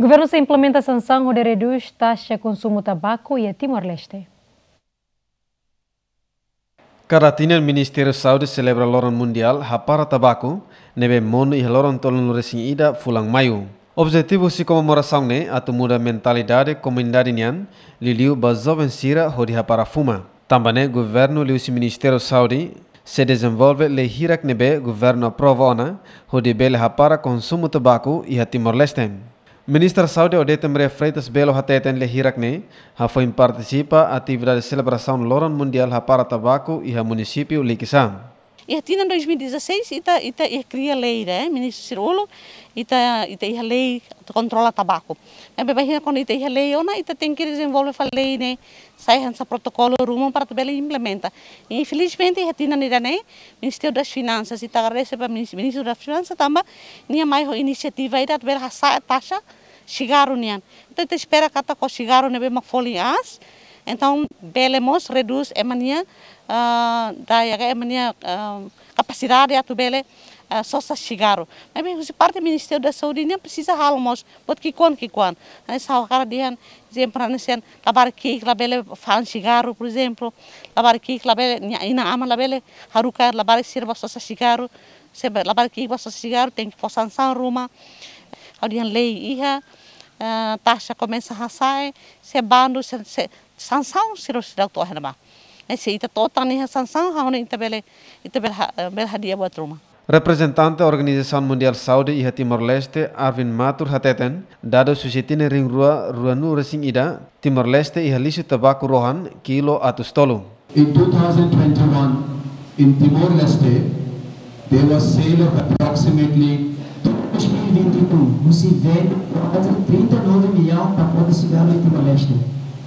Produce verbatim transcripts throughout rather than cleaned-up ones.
Governu sei implementa sansaun hodi redús taxa konsumu tabaku iha Timor-Leste. Kada tinan Ministériu Saúde selebra Loron Mundiál Hapara Tabaku, ne'ebé monu iha loron tolunulu-resin-ida fulan Maiu. Objetivu husi komemorasaun ne'e atu muda mentalidade komunidade nian, liuliu ba joven sira hodi hapara fuma. Tanba ne'e governu liuhusi Ministériu Saúde sei dezenvolve lei hirak ne'ebé governu aprova ona hodi bele hapara konsumu tabaku iha Timor-Leste. Ministra Saúde Odete Maria Freitas Belo hateten lei hirak ne'e hafoin partisipa atividade selebrasaun Loron Mundiál Hapara Tabaku iha munisípiu Likisá. Iha tinan dois mil e dezasseis ita, ita iha kria lei ida, eh, ministru sira uluk, ita, ita iha lei kontrola tabaku. Ne'ebé bainhira kuandu ita iha lei ona, ita tenke dezenvolve fali lei ne'e, sai hanesan protokolu ruma para atu bele implementa. Infelizmente iha tinan ida-ne'e, Ministériu das Finansas, ita agradese ba minis-, Ministru das Finansas tanba nia mai ho inisiativa ida atu bele hasa'e taxa sigarru nian. Entaun ita espera katak ho sigarru ne'ebé mak folin aas, entaun bele mós redús ema nia, ah, daya ka ema nia, ah, kapasidade atu bele, ah, sosa sigarru. Maibé husi parte Ministériu da Saúde nian presiza halo mós buat ki'ikoan ki'ikoan. Hanesan ha'u hakarak dehan, ezemplu hanesan labarik ki'ik labele fa'an sigarru, por ezemplu, labarik ki'ik labele, nia inan-aman labele haruka labarik sira ba sosa sigarru, se be-, labarik ki'ik ba sosa sigarru tenke fó sansaun ruma. Ha'u dehan lei iha, eh, taxa komesa hasa'e, se bandu, se, se sansaun sira seidauk to'o iha ne'ebá. Eh, se ita to'o tan iha sansaun, ha'u hanoin ita bele, ita bele ha-, eh, bele hadi'a buat ruma. Reprezentante Organizasaun Mundiál Saúde iha Timor-Leste, Arvind Mathur hateten, dadus husi tinan rihun rua ruanulu-resin-ida, Timor-Leste iha lixu tabaku rohan kilu atus tolu. In two thousand twenty-one, in Timor-Leste, there was sale of approximately dois mil e vinte e um, husi vende kuaze trinta e nove millaun pakote sigarru iha Timor-Leste.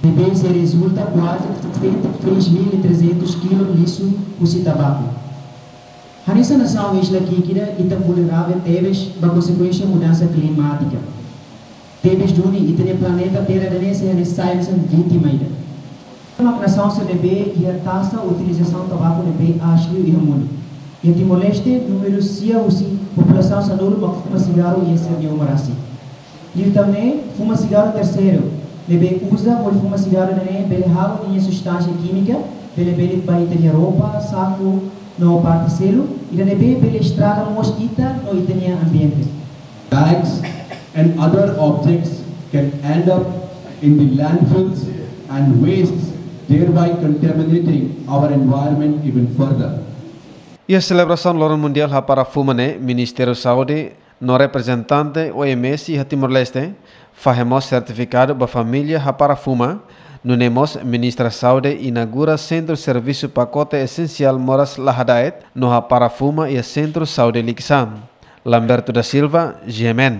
Ne'ebé sei rezulta kuaze sessenta e três mil e trezentos kilo lixu husi tabaku. Hanesan nasaun isla ki'ik ida, ita vulneravel tebes ba konsekuénsia mudansa klimátika. Tebes duni ita-nia planeta Terra ida-ne'e sei hanesan, sai hanesan vítima ida. Mak nasaun sira ne'ebé iha taxa utilizasaun tabaku ne'ebé aas liu iha mundu. Iha Timor-Leste, númeru sia husi populasaun sanulu mak fuma sigarru iha sira-nia uma rasik. Liután ne'e, fuma sigarru terseiru, ne'ebé uza hodi fuma sigarru ida-ne'e bele halo ninia substánsia kímika, bele belit ba ita-nia roupa, saku, no parte seluk, ida ne'ebé bele estraga mós ita no ita-nia ambiente. Bags and other objects can end up in the landfills and wastes, thereby contaminating our environment even further. Iha selebrasaun Loron Mundiál Hapara Fuma ne'e, Ministériu Saúde no reprezentante O M S iha Timor-Leste fahe mós sertifikadu ba família hapara fuma, nune'e mós Ministra Saúde inaugura Sentru Servisu Pakote Esensiál Moras Lahadaet no Hapara Fuma iha Sentru Saúde Likisá. Lamberto da Silva, G M N.